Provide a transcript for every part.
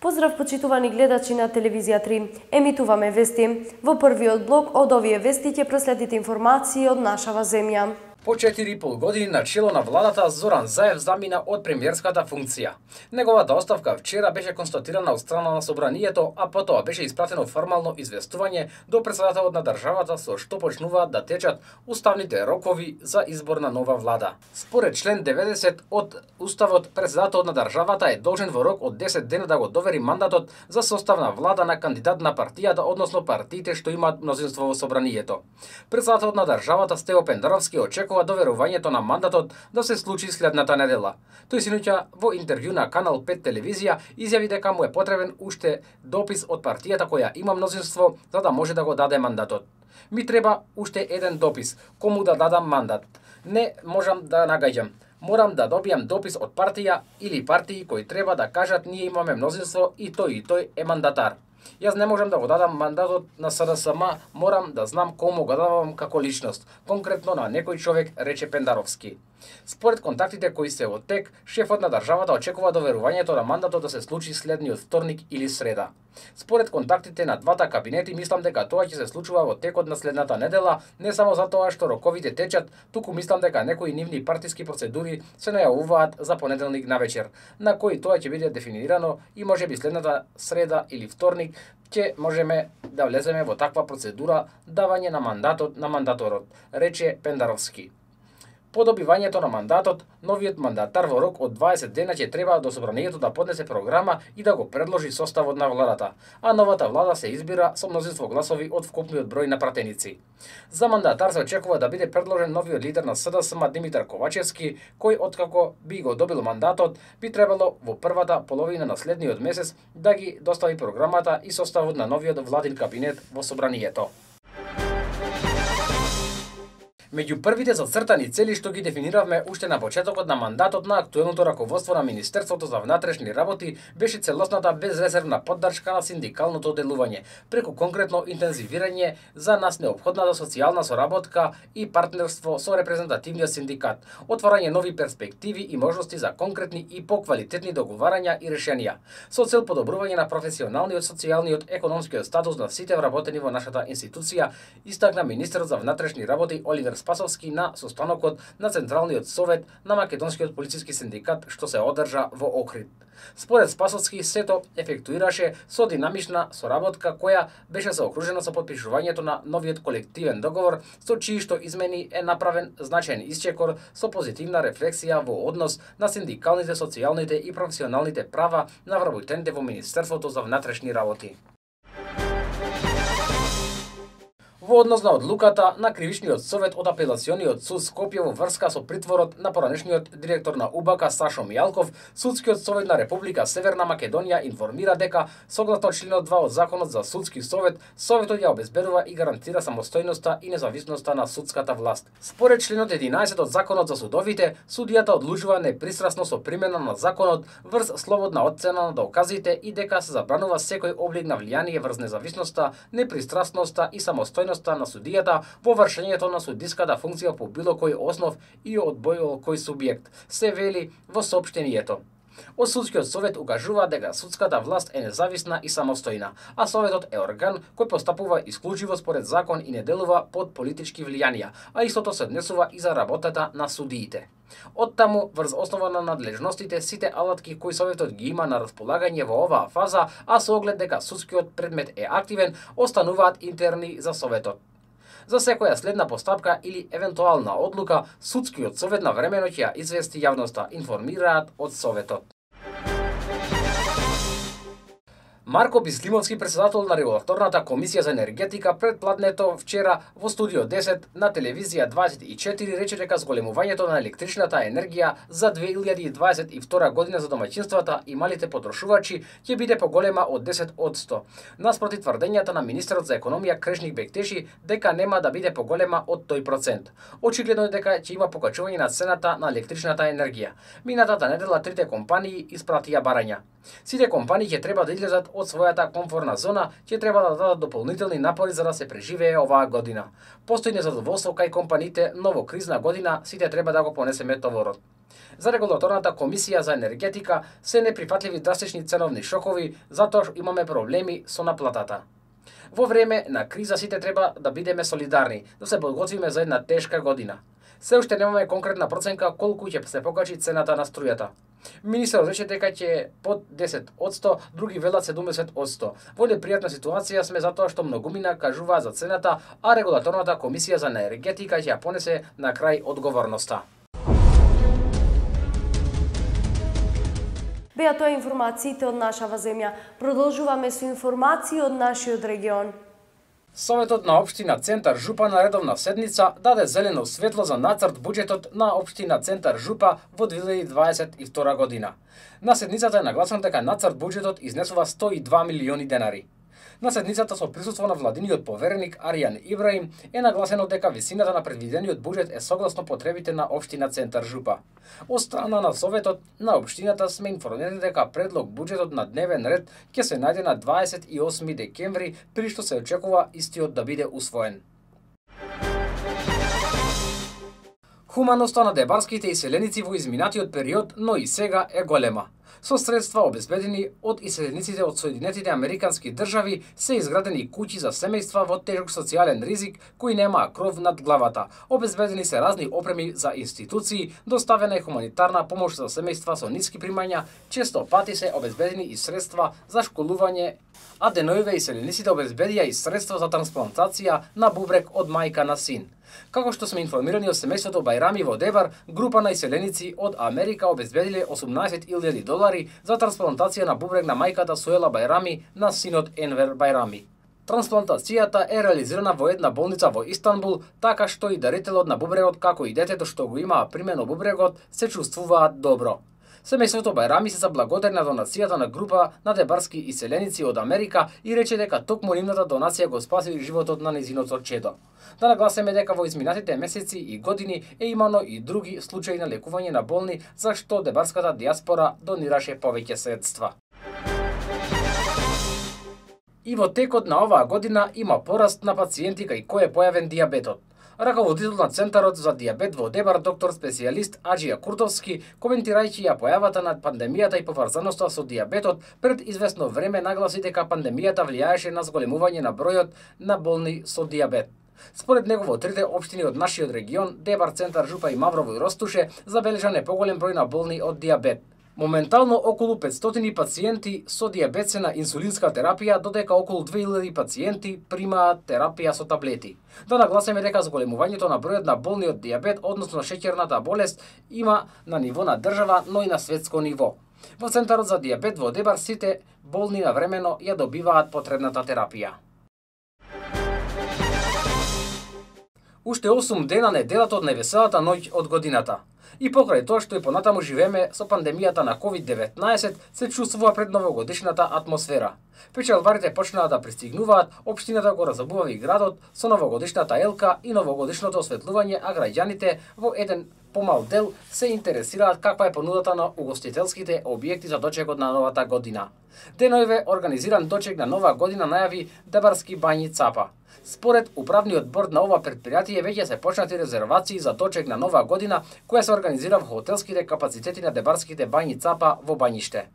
Поздрав почитувани гледачи на телевизија 3. Емитуваме вести. Во првиот блок од овие вести ќе проследите информации од нашава земја. По 4,5 години на чело на владата Зоран Заев замина од премиерската функција. Неговата оставка вчера беше констатирана од страна на собранието, а потоа беше испратено формално известување до претседателот на државата со што почнуваат да течат уставните рокови за избор на нова влада. Според член 90 од Уставот, претседателот на државата е должен во рок од 10 дена да го довери мандатот за состав на влада на кандидат на партијата, односно партиите што имаат мнозинство во собранието. Претседателот на државата Стево Пендаровски очекува доверувањето на мандатот да се случи следната недела. Тој синоќа во интервју на Канал 5 телевизија изјави дека му е потребен уште допис од партијата која има мнозинство за да може да го даде мандатот. Ми треба уште еден допис, кому да дадам мандат. Не можам да нагаѓам. Морам да добијам допис од партија или партии кои треба да кажат ние имаме мнозинство и тој е мандатар. Јас не можам да го дадам мандатот на СДСМ, морам да знам кому го давам како личност, конкретно на некој човек, рече Пендаровски. Според контактите кои се во тек, шефот на државата очекува доверувањето на мандатот да се случи следниот вторник или среда. Според контактите на двата кабинети, мислам дека тоа ќе се случува во текот на следната недела, не само затоа што роковите течат, туку мислам дека некои нивни партиски процедури се најавуваат за понеделник навечер, на кои тоа ќе биде дефинирано и можеби следната среда или вторник ќе можеме да влеземе во таква процедура давање на мандатот на мандаторот, рече Пендаровски. По добивањето на мандатот, новиот мандатар во рок од 20 дена ќе треба до собранието да поднесе програма и да го предложи составот на владата, а новата влада се избира со мнозинство гласови од вкупниот број на пратеници. За мандатар се очекува да биде предложен новиот лидер на СДСМ Димитар Ковачевски, кој откако би го добил мандатот, би требало во првата половина на следниот месец да ги достави програмата и составот на новиот владин кабинет во собранието. Меѓу првите зацртани цели што ги дефиниравме уште на почетокот на мандатот на актуелното раководство на Министерството за внатрешни работи беше целосната безрезервна поддршка на синдикалното делување, преку конкретно интензивирање за нас неопходната социјална соработка и партнерство со репрезентативниот синдикат, отварање нови перспективи и можности за конкретни и поквалитетни договарања и решенија, со цел подобрување на професионалниот, социјалниот, економскиот статус на сите вработени во нашата институција, истакна министерот за внатрешни работи Оливер Спасовски на состанокот на Централниот совет на Македонскиот полициски синдикат што се одржа во Охрид. Според Спасовски, сето ефектуираше со динамична соработка која беше заокружена со подпишувањето на новиот колективен договор, со чии што измени е направен значаен исчекор со позитивна рефлексија во однос на синдикалните, социјалните и професионалните права на вработените во Министерството за внатрешни работи. Во однос на одлуката на Кривичниот совет од апелациониот суд Скопје во врска со притворот на поранешниот директор на УБК Сашо Мијалков, Судскиот совет на Република Северна Македонија информира дека согласно членот 2 од Законот за судски совет, советот ја обезбедува и гарантира самостојноста и независноста на судската власт. Според членот 11 од Законот за судовите, судијата одлучува непристрасно со примена на законот врз слободна оцена на доказите и дека се забранува секој облик на влијание врз независноста, непристрасноста и самостојноста на судијата во вршењето на судиската функција по било кој основ и од било кој субјект, се вели во соопштението. Од Судскиот совет укажува дека судската власт е независна и самостојна, а советот е орган кој постапува исклучиво според закон и не делува под политички влијанија, а истото се однесува и за работата на судиите. Оттаму, врз основа на надлежностите, сите алатки кои советот ги има на располагање во оваа фаза, а со оглед дека судскиот предмет е активен, остануваат интерни за советот. За секоја следна постапка или евентуална одлука, Судскиот совет навремено ќе ја извести јавноста, информираат од советот. Марко Бислимовски, претседател на Регулаторната комисија за енергетика, пред пладнето вчера во студио 10 на телевизија 24 рече дека зголемувањето на електричната енергија за 2022 година за домаќинствата и малите потрошувачи ќе биде поголема од 10%. Наспроти тврдењата на министерот за економија Крешник Бектеши дека нема да биде поголема од тој процент. Очигледно е дека ќе има покачување на цената на електричната енергија. Минатата недела трите компании испратија барања. Сите компании ќе треба да излезат од својата комфорна зона, ќе треба да дадат дополнителни напори за да се преживее оваа година. Постои незадоволство кај компаниите, но во кризна година сите треба да го понесеме товарот. За регулаторната комисија за енергетика се неприфатливи драстични ценовни шокови, затоа што имаме проблеми со наплатата. Во време на криза сите треба да бидеме солидарни, да се подготвиме за една тешка година. Се уште немаме конкретна проценка колку ќе се покачи цената на струјата. Министерот рече дека ќе под 10%, други велат 70%. Во непријатна ситуација сме затоа што многумина кажуваат за цената, а регулаторната комисија за енергетика ќе ја понесе на крај одговорноста. Беа тоа информациите од нашава земја. Продолжуваме со информации од нашиот регион. Советот на општина Центар Жупа на редовна седница даде зелено светло за нацрт буџетот на општина Центар Жупа во 2022 година. На седницата е нагласено дека нацрт буџетот изнесува 102 милиони денари. На седницата со присуство на владиниот повереник Аријан Ибраим е нагласено дека висината на предвидениот буџет е согласно потребите на општина Центар Жупа. Од страна на Советот на општината сме информирани дека предлог буџетот на дневен ред ќе се најде на 28 декември, при што се очекува истиот да биде усвоен. Хуманоста на дебарските иселеници во изминатиот период, но и сега е голема. Со средства обезбедени од иселениците од Соединетите Американски држави се изградени куќи за семејства во тежок социјален ризик кои немаа кров над главата. Обезбедени се разни опреми за институции, доставена е хуманитарна помош за семејства со ниски примања, често пати се обезбедени и средства за школување, а деноиве иселениците обезбедија и средства за трансплантација на бубрек од мајка на син. Како што сме информирани од семејството Бајрами во Дебар, група на иселеници од Америка обезбедиле $18,000 за трансплантација на бубрек на мајката Суела Бајрами на синот Енвер Бајрами. Трансплантацијата е реализирана во една болница во Истанбул, така што и дарителот на бубрегот, како и детето што го имаа примено бубрегот, се чувствуваат добро. Семејството Бајрами се заблагодари на донацијата на група на дебарски иселеници од Америка и рече дека токму нивната донација го спаси животот на незиното чедо. Да нагласиме дека во изминатите месеци и години е имано и други случаи на лекување на болни, за што дебарската диаспора донираше повеќе средства. И во текот на оваа година има пораст на пациенти кај кој е појавен дијабетот. Раководител на Центарот за дијабет во Дебар, доктор специјалист Аџија Куртовски, коментирајќи ја појавата на пандемијата и поврзаноста со дијабетот, пред известно време нагласи дека пандемијата влијаеше на зголемување на бројот на болни со дијабет. Според него во трите општини од нашиот регион, Дебар, Центар Жупа и Маврово и Ростуше, забележан е поголем број на болни од дијабет. Моментално околу 500 пациенти со дијабет се на инсулинска терапија, додека околу 2000 пациенти примаат терапија со таблети. Да нагласиме дека зголемувањето на бројот на болни од дијабет, односно шеќерната болест, има на ниво на држава, но и на светско ниво. Во Центарот за дијабет во Дебар сите болни навремено ја добиваат потребната терапија. Уште 8 дена неделата од највеселата ноќ од годината. И покрај тоа што и понатаму живееме со пандемијата на COVID-19, се чувствува пред новогодишната атмосфера. Печалварите почнаа да пристигнуваат, општината го разобувави градот со новогодишната елка и новогодишното осветлување, а граѓаните во еден помал дел се интересираат каква е понудата на угостителските објекти за дочекот на новата година. Деноиве организиран дочек на нова година најави Дебарски бањи Цапа. Според управниот борд на ова предпријатие веќе се почнати резервации за дочек на нова година, која се организира во хотелските капацитети на Дебарските бањи Цапа во Бањиште.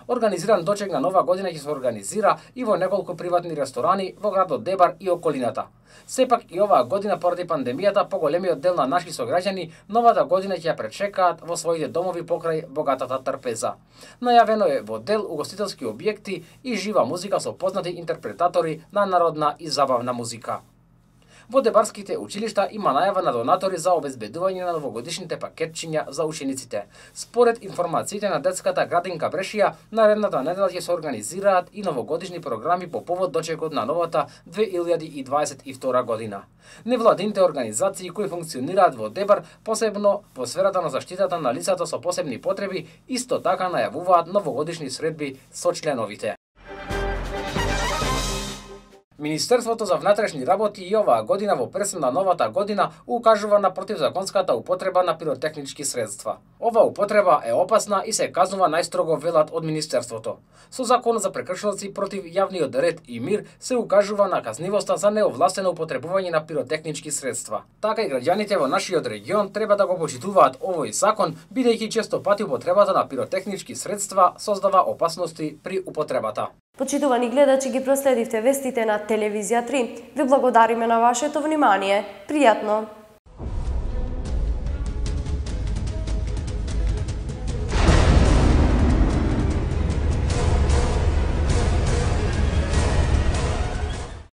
Организиран дочек на нова година ќе се организира и во неколку приватни ресторани во градот Дебар и околината. Сепак и оваа година поради пандемијата поголемиот дел на наши сограѓани новата година ќе ја пречекаат во своите домови покрај богатата трпеза. Најавено е во дел угостителски објекти и жива музика со познати интерпретатори на народна и забавна музика. Во дебарските училишта има најава на донатори за обезбедување на новогодишните пакетчиња за учениците. Според информациите на детската градинка Брешија, наредната недела ќе се организираат и новогодишни програми по повод дочекот на новата 2022 година. Невладините организации кои функционираат во Дебар, посебно во сферата на заштитата на лицата со посебни потреби, исто така најавуваат новогодишни средби со членовите. Министерството за внатрешни работи и оваа година во пресен на новата година укажува на противзаконската употреба на пиротехнички средства. Ова употреба е опасна и се казнува најстрого, велат од Министерството. Со Закон за прекршоци против јавниот ред и мир се укажува на казнивоста за неовластено употребување на пиротехнички средства. Така и граѓаните во нашиот регион треба да го почитуваат овој закон, бидејќи често пати употребата на пиротехнички средства создава опасности при употребата. Почитувани гледачи, ги проследивте вестите на Телевизија 3. Ви благодариме на вашето внимание. Пријатно!